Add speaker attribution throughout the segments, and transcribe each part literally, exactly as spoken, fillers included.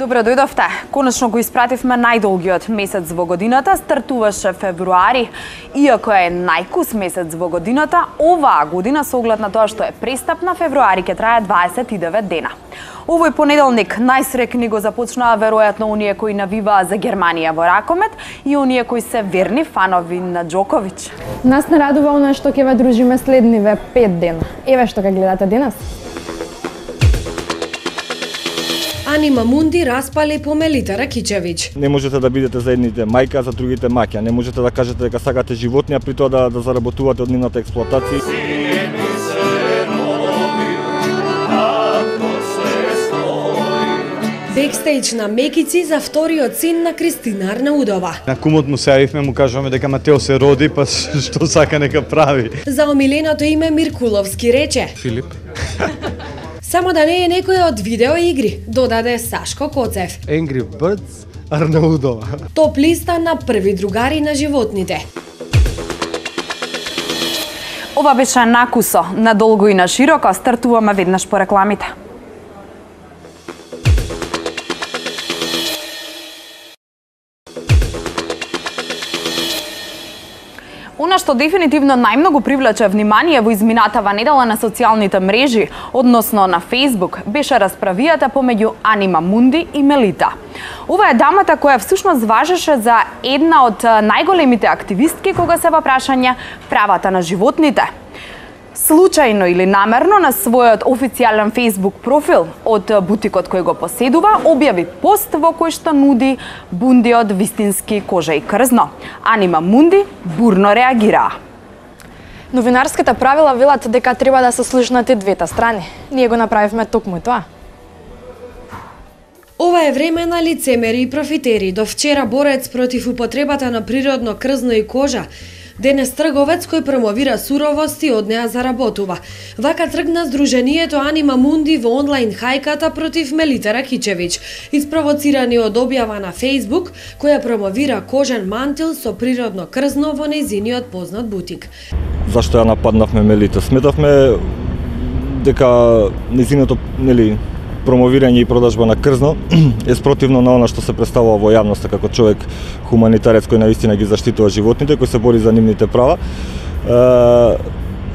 Speaker 1: Добро дојдовте. Конечно го испративме најдолгиот месец во годината, стартуваше февруари. Иако е најкус месец во годината, оваа година со оглед на тоа што е престапна, февруари ќе трае дваесет и девет дена. Овој понеделник најсрекни го започнаа веројатно оние кои навиваа за Германија во ракомет и оние кои се верни фанови на Џоковиќ.
Speaker 2: Нас не радува она што ќе ве дружиме следниве пет дена. Еве што ќе гледате денес.
Speaker 3: Анима Мунди распали по Мелита Ракичевиќ.
Speaker 4: Не можете да бидете за едните мајка, а за другите маќа. Не можете да кажете дека сакате животни, а при тоа да, да заработувате од нивната експлоатација.
Speaker 3: Бекстејдж на Мекици за вториот син на Кристина Арнаудова.
Speaker 5: На кумот му се јавивме, му кажуваме дека Матео се роди, па што сака нека прави.
Speaker 3: За омиленото име Миркуловски рече
Speaker 5: Филип.
Speaker 3: Само да не е некој од видеоигри, додаде Сашко Коцев.
Speaker 5: Angry Birds Арнаудова.
Speaker 3: Топ листа на први другари на животните.
Speaker 1: Ова беше накусо, надолго и на широко, стартуваме веднаш по рекламите. Она што дефинитивно најмногу привлече внимание во изминатава недела на социјалните мрежи, односно на Facebook, беше расправијата помеѓу Анима Мунди и Мелита. Ова е дамата која всушност важеше за една од најголемите активистки кога се во прашање правата на животните. Случајно или намерно на својот официјален Facebook профил од бутикот кој го поседува, објави пост во кој што нуди бунди од вистински кожа и крзно. Анима Мунди бурно реагираа.
Speaker 2: Новинарските правила велат дека треба да се слушнати двете страни. Ние го направивме токму тоа.
Speaker 3: Ова е време на лицемери и профитери. До вчера борец против употребата на природно крзно и кожа, денес трговец кој промовира суровост и од неа заработува. Вака тргна Сдруженијето Анима Мунди во онлайн хајката против Мелита Ракичевиќ, испровоцирани од објава на Facebook која промовира кожен мантил со природно крзно во нејзиниот познат бутик.
Speaker 4: Зашто ја нападнавме Мелита? Сметавме дека нејзиното, нели, промовирање и продажба на крзно е спротивно на она што се представува во јавноста како човек хуманитарец кој навистина ги заштитува животните, кој се бори за нивните права. Е,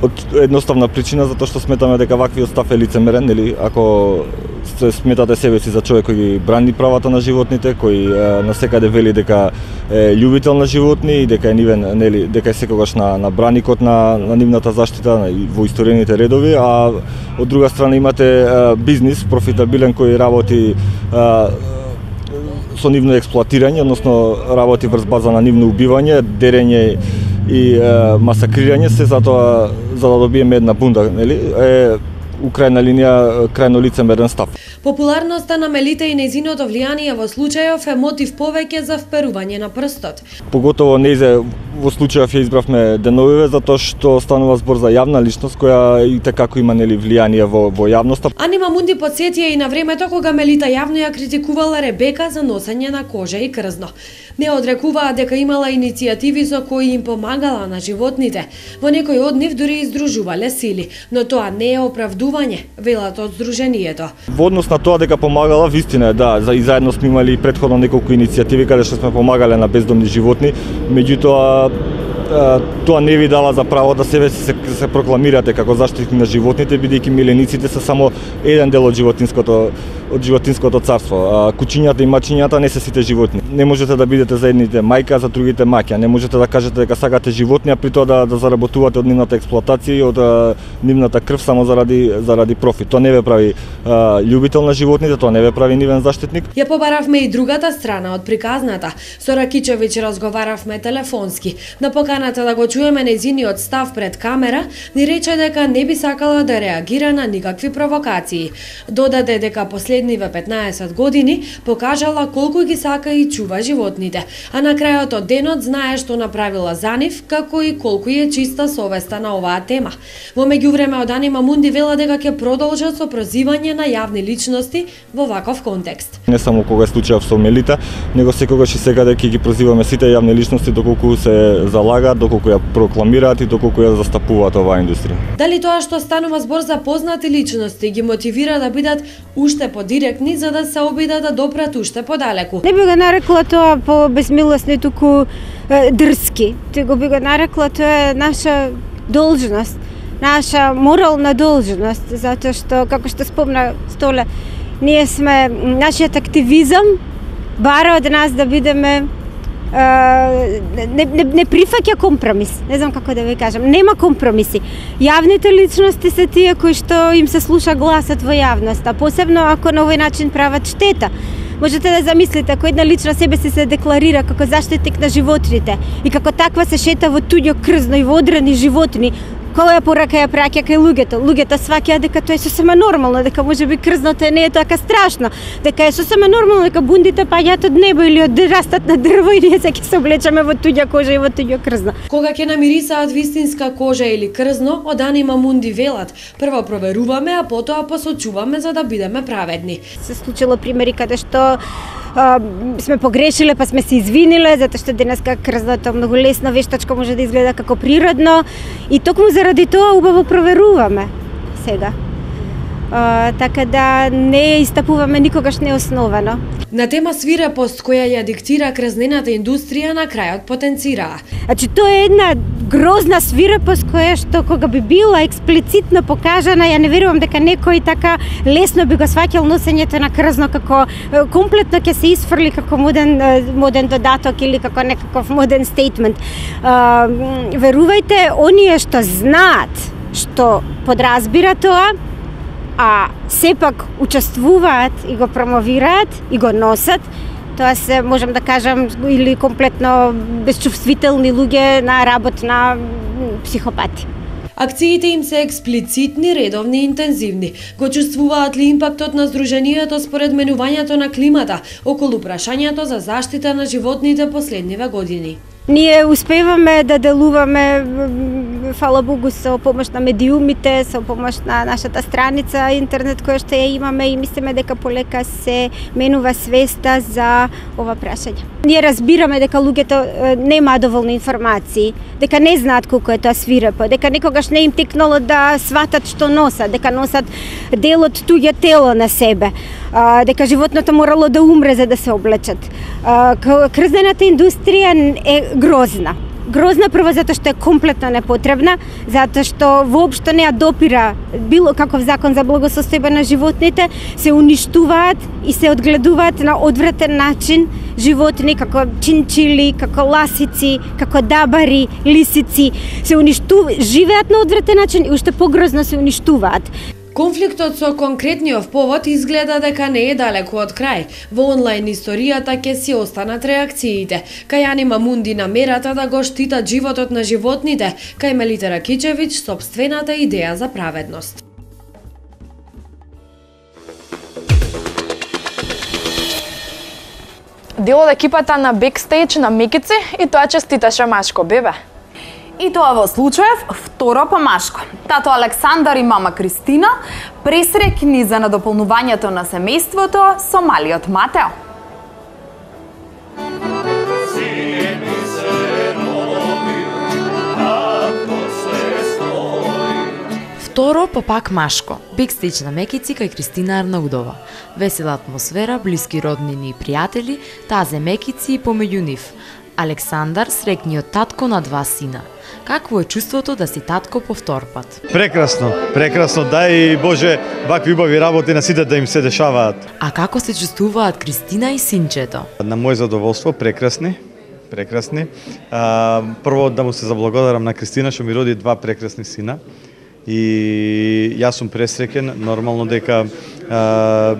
Speaker 4: од едноставна причина затоа што сметаме дека ваквиот став е лицемерен, нели, ако се сметате себе си за човек кој ги брани правата на животните, кој е, насекаде вели дека е љубител на животни и дека е нивен, нели, дека е секогаш на, на браникот на, на нивната заштита во историјните редови, а од друга страна имате е, бизнис профитабилен кој работи е, со нивно експлоатирање, односно работи врз база на нивно убивање, дерење и е, масакрирање, се затоа за да добиеме една бунда, нели, е у крајна линија крајно лицемерен став.
Speaker 3: Популарноста на Мелита и нејзиното влијание во случајов е мотив повеќе за вперување на прстот.
Speaker 4: Поготово нејзе во случајов ја избравме деновиве затоа што станува збор за јавна личност која и како има, нели, влијание во во јавноста.
Speaker 3: Анима Мунди потсетија и на времето кога Мелита јавно ја критикувала Ребека за носење на кожа и крзно. Не одрекуваа дека имала иницијативи со кои им помагала на животните. Во некој од нив дури издружувале сили, но тоа не е оправдување, велат од Сдруженијето.
Speaker 4: Во однос на тоа дека помагала, вистина е, да, за и заедно сме имали претходно неколку иницијативи каде што сме помагале на бездомни животни, меѓутоа тоа не ви дала за право да себе се, се прокламирате како заштитник на животните, бидејќи милениците се само еден дел од животинското од животинското царство. А, кучињата и мачињата не се сите животни. Не можете да бидете за едните мајка, а за другите маќа. Не можете да кажете дека сакате животни, а при тоа да, да заработувате од нивната експлоатација и од а, нивната крв само заради заради профит. Тоа не ве прави а, љубител на животните, тоа не ве прави нивен заштитник.
Speaker 3: Ја побаравме и другата страна од приказната. Со Ракичевиќ разговаравме телефонски. На поканата да го чуеме нејзиниот став пред камера, ни рече дека не би сакала да реагира на никакви провокации. Додаде дека последниве петнаесет години покажала колку ги сака и чува животните, а на крајот од денот знае што направила за нив, како и колку е чиста совеста на оваа тема. Во меѓувреме од Анима Мунди вела дека ќе продолжат со прозивање на јавни личности во ваков контекст.
Speaker 4: Не само кога е случајов со Мелита, него секогаш и секаде ќе ги прозиваме сите јавни личности доколку се залага предлагаат, доколку ја прокламираат и доколку ја застапуваат оваа индустрија.
Speaker 3: Дали тоа што станува збор за познати личности ги мотивира да бидат уште подиректни за да се обидат да допрат уште подалеку?
Speaker 6: Не би го нарекла тоа по безмилосни, туку е, дрски. Туку би го нарекла тоа е наша должност, наша морална должност, затоа што, како што спомна Столе, ние сме, нашиот активизам бара од нас да бидеме не, не, не прифаќа компромис, не знам како да ви кажам, нема компромиси. Јавните личности се тие кои што им се слуша гласот во јавноста, посебно ако на овој начин прават штета. Можете да замислите, ако една лична себе си се декларира како заштитник на животните и како таква се шета во туѓо крзно и во одрани животни, која порака ја праќа кај луѓето? Луѓето сваќаат дека тоа е сосема нормално, дека можеби крзното не е така страшно, дека е сосема нормално дека бундите паѓаат од небо или од растат на дрво и ние се ќе се облечеме во туѓа кожа и во туѓо крзно.
Speaker 3: Кога ќе намирисаат вистинска кожа или крзно, од Анима Мунди велат, прво проверуваме, а потоа посочуваме за да бидеме праведни.
Speaker 6: Се случило примери каде што а, сме погрешиле, па сме се извиниле, затоа што денеска крзното многу лесно вештачко може да изгледа како природно и токму заради тоа убаво проверуваме сега. А, така да не истапуваме никогаш неосновано.
Speaker 3: На тема свирепост која ја диктира крзнената индустрија на крајот потенцираа.
Speaker 6: Значи тоа е една грозна свирепост која што кога би била експлицитно покажана, ја не верувам дека некој така лесно би го сваќал носењето на крзно како комплетно ќе се исфрли како моден моден додаток или како некаков моден стейтмент. А, верувајте, оние што знаат, што подразбира тоа, а сепак учествуваат и го промовираат и го носат, тоа се, можам да кажам, или комплетно безчувствителни луѓе на работ на психопати.
Speaker 3: Акциите им се експлицитни, редовни и интензивни. Го чувствуваат ли импактот на Сдруженијето според менувањето на климата околу прашањето за заштита на животните последниве години?
Speaker 6: Ние успеваме да делуваме, фала Богу, со помош на медиумите, со помош на нашата страница интернет која што ја имаме и мислиме дека полека се менува свеста за ова прашање. Ние разбираме дека луѓето нема доволно информации, дека не знаат колку е тоа свирепо, дека никогаш не им текнало да сватат што носат, дека носат дел од туѓе тело на себе, дека животното морало да умре за да се облечат. Крзнената индустрија е грозна. Грозна прво затоа што е комплетно непотребна, затоа што воопшто не ја допира било каков закон за благосостојба на животните, се уништуваат и се одгледуваат на одвратен начин животни како чинчили, како ласици, како дабари, лисици, се уништуваат, живеат на одвратен начин и уште погрозно се уништуваат.
Speaker 3: Конфликтот со конкретниот повод изгледа дека не е далеку од крај. Во онлайн историјата ќе си останат реакциите. Кај Анима Мунди намерата да го штитат животот на животните, кај Мелита Ракичевиќ сопствената идеја за праведност.
Speaker 2: Дел од екипата на Бекстејдж на Мекици и тоа честиташе машко бебе.
Speaker 1: И тоа во случаев второ по машко. Тато Александар и мама Кристина пресрекни за надополнувањето на семејството со малиот Матео.
Speaker 7: Второ по пак машко. Бекстејдж на Мекици кај Кристина Арнаудова. Весела атмосфера, блиски роднини и пријатели, тазе Мекици и помеѓу нив. Александар, срекниот татко на два сина. Какво е чувството да си татко по втор пат?
Speaker 5: Прекрасно, прекрасно, дај Боже вакви убави работи на сите да им се дешаваат.
Speaker 7: А како се чувствуваат Кристина и синчето?
Speaker 5: На моје задоволство, прекрасни, прекрасни. А, прво да му се заблагодарам на Кристина што ми роди два прекрасни сина. И јас сум пресреќен, нормално дека а,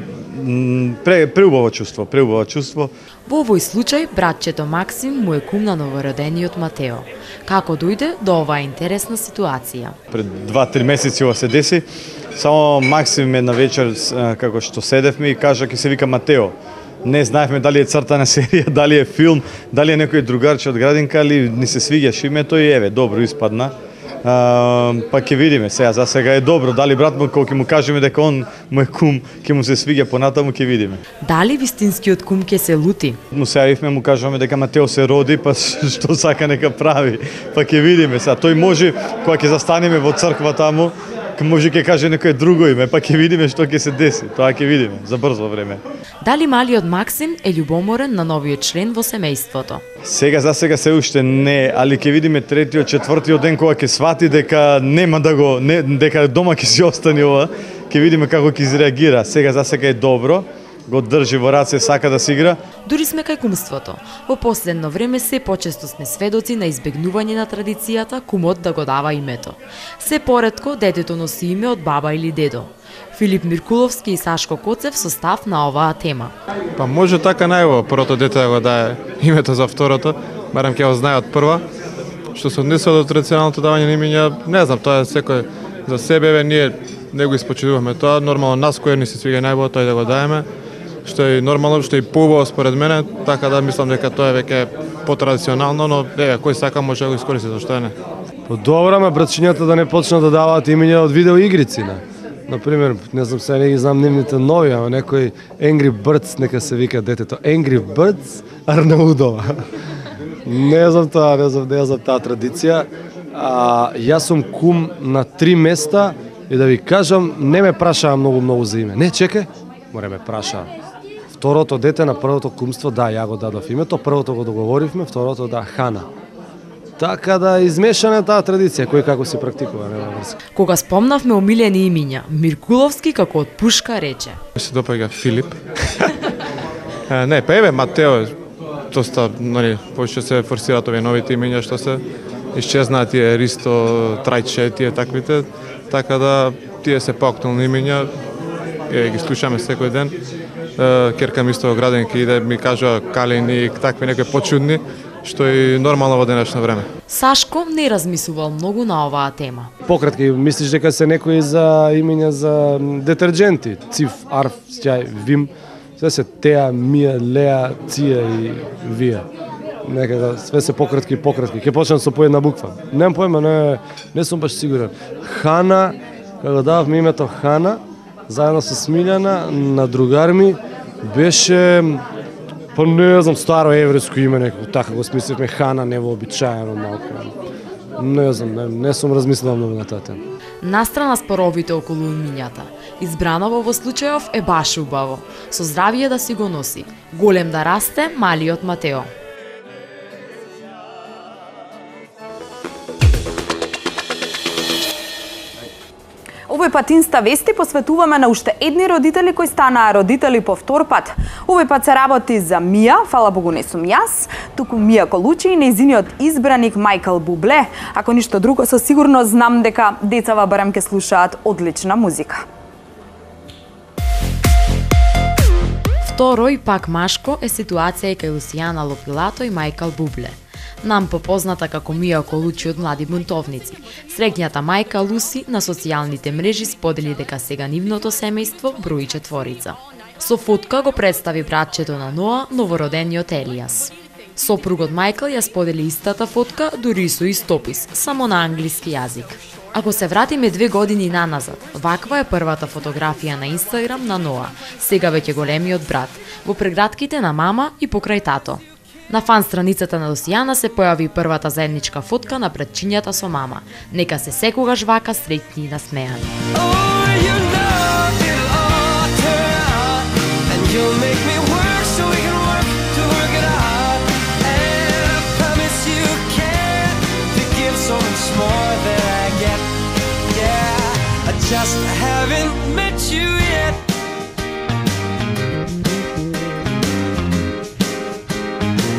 Speaker 5: пре, преубаво чувство, преубаво чувство.
Speaker 7: Во овој случај, братчето Максим му е кум на новородениот Матео. Како дојде до оваа интересна ситуација?
Speaker 5: Пред два-три месеци ова се деси, само Максим една вечер, како што седевме и кажа ќе се вика Матео. Не знаевме дали е цртана серија, дали е филм, дали е некој другарче од градинка, али ни се свиѓаше името и еве, добро испадна. А, па ќе видиме сега, за сега е добро, дали брат му кога ќе му кажеме дека он му е кум, ќе му се свиѓа понатаму, ќе видиме.
Speaker 7: Дали вистинскиот кум ќе се лути?
Speaker 5: Му се јавивме, му кажуваме дека Матео се роди, па што сака нека прави. Па ќе видиме сега. Тој може кога ќе застанеме во црква таму, може ќе каже некој друго име, па ќе видиме што ќе се деси. Тоа ќе видиме за брзо време.
Speaker 7: Дали малиот Максим е љубоморен на новиот член во семејството?
Speaker 5: Сега за сега се уште не, али ќе видиме третиот, четвртиот ден кога ќе свати дека нема да го, не, дека дома ќе си остане ова, ќе видиме како ќе изреагира. Сега за сега е добро, го држи во раце, сака да си игра.
Speaker 7: Дури сме кај кумството. Во последно време се почесто сме сведоци на избегнување на традицијата кумот да го дава името. Се поретко детето носи име од баба или дедо. Филип Миркуловски и Сашко Коцев со став на оваа тема.
Speaker 8: Па може така најво првото дете да го дае името за второто, барем ќе го знае од прва. Што се однесува до традиционалното давање на имиња, не знам, тоа е секој за себе, бе, ние не го испочитуваме тоа, нормално нас кој ни се свига најбо тој да го даеме, што е нормално, што е поубаво според мене, така да мислам дека тоа е веќе потрадиционално, но еве кој сака може да го искористи, зашто не.
Speaker 9: По добро, ме братчињата да не почнат да даваат имиња од видеоигрици, не. Например, не знам, сега не ги знам нивните нови, ама некој Angry Birds, нека се вика детето. Angry Birds Арнаудова. Не знам тоа, не знам, не знам таа традиција. А, јас сум кум на три места и да ви кажам, не ме прашаа многу многу за име. Не, чекај, море ме прашаа. Второто дете на првото кумство, да, ја го дадов името, првото го договоривме, второто да, Хана. Така да измешана таа традиција, кој како се практикува, нема врска.
Speaker 7: Кога спомнавме омилени имиња, Миркуловски како од пушка рече.
Speaker 8: Се допаѓа Филип. Не, па еве Матео, доста, нели, повеќе се форсираат овие новите имиња што се исчезнаат тие Ристо, Трајче, тие таквите, така да тие се поактуелни имиња, е, ги слушаме секој ден. Керка ми исто граденки иде, ми кажува Калини, такви некои почудни, што е нормално во денешно време.
Speaker 7: Сашко не размислувал многу на оваа тема.
Speaker 9: Пократки, мислиш дека се некои за имиња за детерџенти, Циф, Арф, Сјај, Вим, све се Теа, Мија, Леа, Ција и Вија. Некако све се пократки и пократки. Ќе почнам со по една буква. Немам појма, не, не сум баш сигурен. Хана, кога дававме името Хана, заедно со Смилјана, на другар ми, беше, па не знам, старо еврејско име, некако така го смисливме, Хана, невообичаено малку. Не знам, не, не сум размислувал многу на таа тема.
Speaker 7: Настрана споровите околу имињата, избраново во случајов е баш убаво. Со здравие да си го носи. Голем да расте малиот Матео.
Speaker 1: Овој пат Инста вести посветуваме на уште едни родители кои станаа родители по втор пат. Овој пат се работи за Мија, фала Богу не сум јас, туку Мија Колучи и нејзиниот избраник Мајкл Бубле. Ако ништо друго, со сигурност знам дека децава барем ке слушаат одлична музика.
Speaker 7: Второ и пак машко е ситуација и кај Лусијана Лопилато и Мајкл Бубле. Нам попозната како Мија Колучи од Млади бунтовници. Среќната мајка Луси на социјалните мрежи сподели дека сега нивното семејство брои четворица. Со фотка го представи братчето на Ноа, новородениот Елијас. Сопругот Мајкл ја сподели истата фотка, дури и со истопис, само на англиски јазик. Ако се вратиме две години наназад, ваква е првата фотографија на Инстаграм на Ноа, сега веќе големиот брат, во прегратките на мама и покрај тато. На фан страницата на Лусијана се појави првата заедничка фотка на братчињата со мама. Нека се секогаш вака среќни и насмеани.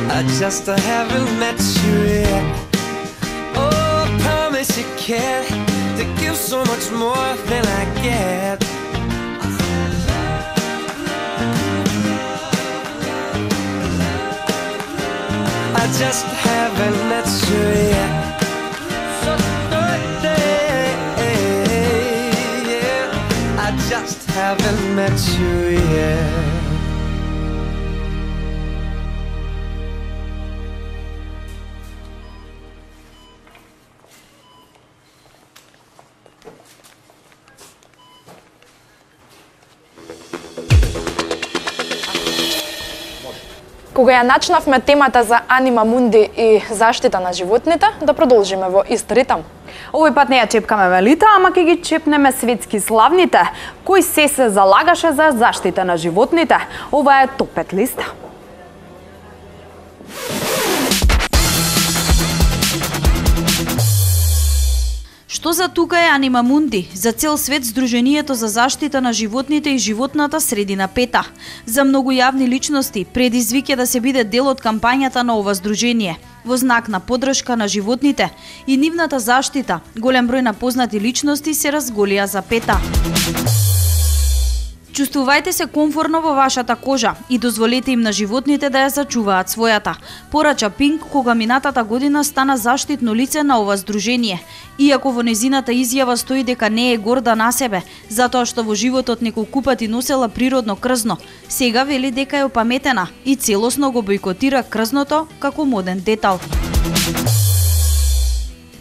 Speaker 10: I just haven't met you yet. Oh, I promise you care to give so much more than I get. I just haven't met you yet. So birthday, yeah. I just haven't met you yet.
Speaker 2: Кога ја начнавме темата за Анима Мунди и заштита на животните, да продолжиме во ист ритам.
Speaker 1: Овој пат не ја чепкаме Мелита, ама ќе ги чепнеме светски славните, кои се се залагаше за заштита на животните. Ова е топ пет листа.
Speaker 11: Што за тука е Анима Мунди? За цел свет Сдруженијето за заштита на животните и животната средина пета. За многу јавни личности предизвик е да се биде дел од кампањата на ова здружение. Во знак на поддршка на животните и нивната заштита, голем број на познати личности се разголија за пета. Чувствувајте се комфорно во вашата кожа и дозволете им на животните да ја зачуваат својата. Порача Пинк кога минатата година стана заштитно лице на ова здружение. Иако во незината изјава стои дека не е горда на себе, затоа што во животот неколку пати носела природно крзно, сега вели дека е опаметена и целосно го бойкотира крзното како моден детал.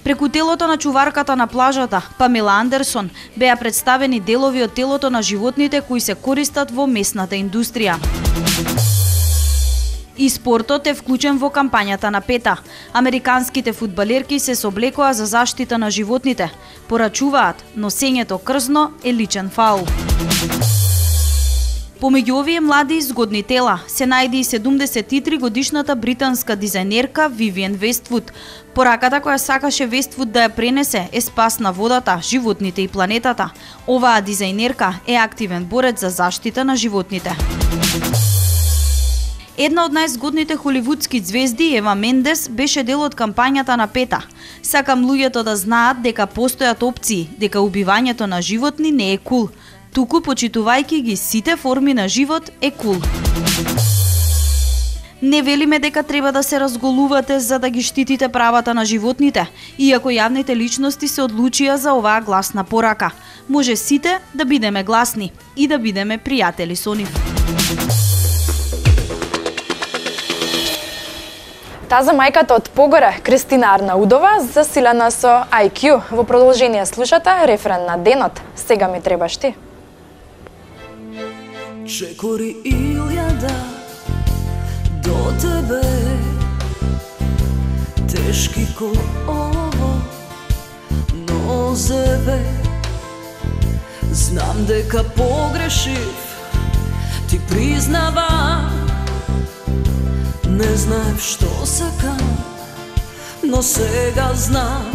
Speaker 11: Преку телото на чуварката на плажата, Памела Андерсон, беа представени делови од телото на животните кои се користат во месната индустрија. И спортот е вклучен во кампањата на пета. Американските фудбалерки се соблекоа за заштита на животните. Порачуваат, носењето крзно е личен фаул. Помеѓу овие млади и згодни тела се најде и седумдесет и три годишната британска дизајнерка Вивиен Вествуд. Пораката која сакаше Вествуд да ја пренесе е спас на водата, животните и планетата. Оваа дизајнерка е активен борец за заштита на животните. Една од најзгодните холивудски звезди, Ева Мендес, беше дел од кампањата на пета. Сакам луѓето да знаат дека постојат опции, дека убивањето на животни не е кул. Туку почитувајќи ги сите форми на живот е кул. Не велиме дека треба да се разголувате за да ги штитите правата на животните, иако јавните личности се одлучија за оваа гласна порака. Може сите да бидеме гласни и да бидеме пријатели со нив.
Speaker 2: Таза мајката од Погоре, Кристина Арнаудова, засилена со ай кју. Во продолжение слушате рефрен на денот. Сега ми требаш ти.
Speaker 12: Чекори илјада до тебе, тешки ко ово нозеве. Знам дека погрешив, ти признавам. Не знаев што сакам, но сега знам.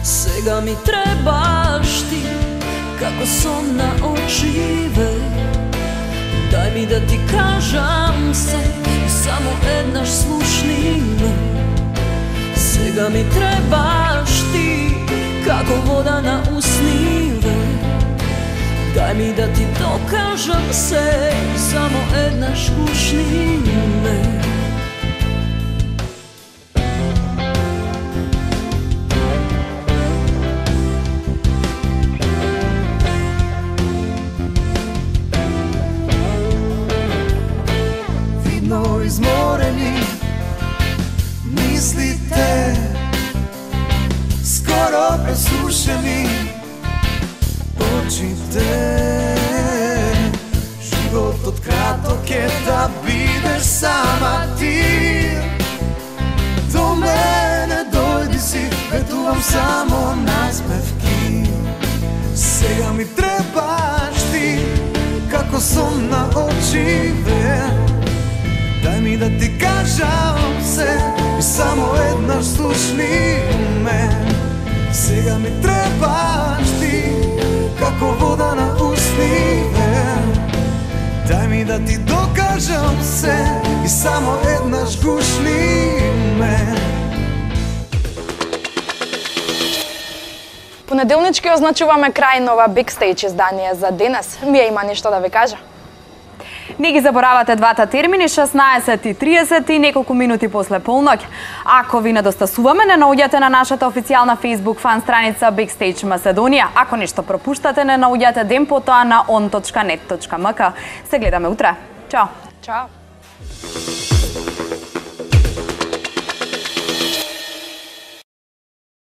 Speaker 12: Сега ми требаш ти, како сон на очиве. Дај ми да ти кажам се, само еднаш слушни ме. Сега ми требаш ти, како вода на усниве. Дај ми да ти докажам се, само еднаш слушни ме.
Speaker 10: Изморени мислите, скоро пресушени очите. Животот краток е да бидеш сама ти. До мене дојди си, ветувам само насмевки. Сега ми требаш ти, како сон на очиве. Дај ми да ти кажам се и само еднаш слушни ме. Сега ми требаш ти, како вода на устиве. Дај ми да ти докажам се и само еднаш гушни ме.
Speaker 2: Понеделнички означуваме крај на ова Backstage издание за денес. Мија има нешто да ви кажа?
Speaker 1: Не ги заборавате двата термини, шеснаесет и триесет и неколку минути после полноќ. Ако ви недостасуваме, не наоѓате на нашата официјална Facebook фан страница Backstage Macedonија. Ако нешто пропуштате, не наоѓате ден потоа на on точка net точка m k. Се гледаме утре. Чао!
Speaker 2: Чао!